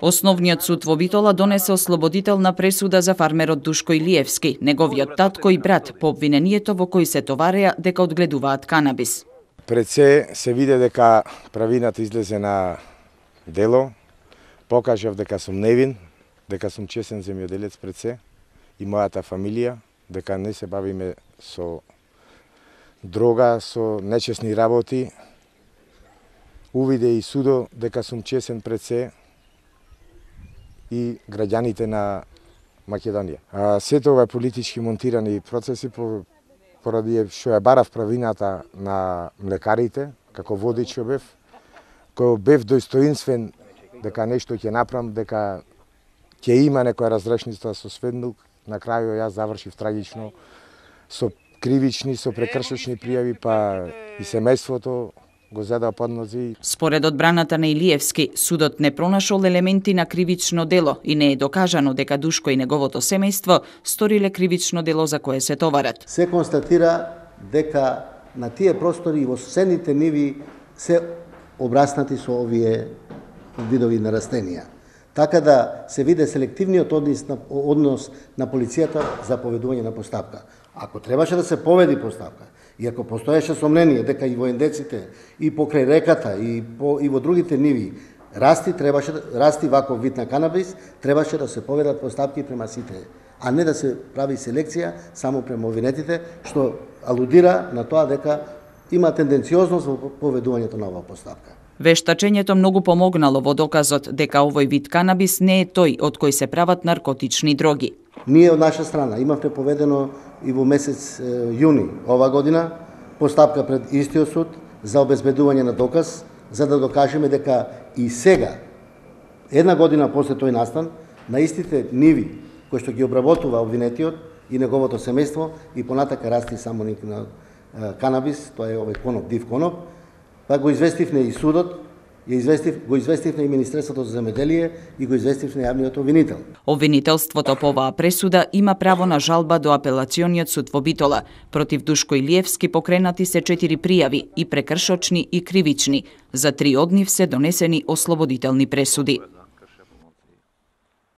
Основниот суд во Битола донесе ослободителна пресуда за фармерот Душко Илиевски, неговиот татко и брат по обвинението во кои се товареа дека одгледуваат канабис. Пред се виде дека правината излезе на дело, покажав дека сум невин, дека сум честен земјоделец пред се и мојата фамилија, дека не се бавиме со дрога, со нечесни работи. Увиде и судо дека сум честен пред се и граѓаните на Македонија. Сето ова политички монтирани процеси поради што ја барав правината на млекарите, како водич бев, кој бев достоинствен дека нешто ќе направам, дека ќе има некоја разрешница со Светмилк. На крајот јас завршив трагично со кривични, со прекршочни пријави, па и семејството го зеда под нози. Според одбраната на Илиевски, судот не пронашол елементи на кривично дело и не е докажано дека Душко и неговото семејство сториле кривично дело за кое се товарат. Се констатира дека на тие простори и во соседните ниви се обраснати со овие видови на растенија. Така да се виде селективниот однос на полицијата за поведување на постапка. Ако требаше да се поведи постапка, и ако постоеше сомнение дека и во ендеците, и покрај реката, и во другите ниви расти ваков вид на канабис, требаше да се поведат постапки према сите, а не да се прави селекција само према обвинетите, што алудира на тоа дека има тенденциозност во поведувањето на оваа постапка. Вештачењето многу помогнало во доказот дека овој вид канабис не е тој од кој се прават наркотични дроги. Ние од наша страна имавме поведено и во месец јуни ова година постапка пред истиот суд за обезбедување на доказ, за да докажеме дека и сега, една година после тој настан, на истите ниви кои што ги обработува обвинетиот и неговото семејство и понатака расти само на канабис, тоа е овој коноп, див коноп, па го известивме и судот, го известивме и Министерството за земјоделие и го известивме јавниот обвинител. Обвинителството по оваа пресуда има право на жалба до апелациониот суд во Битола. Против Душко Илиевски покренати се 4 пријави, и прекршочни и кривични. За 3 од нив се донесени ослободителни пресуди.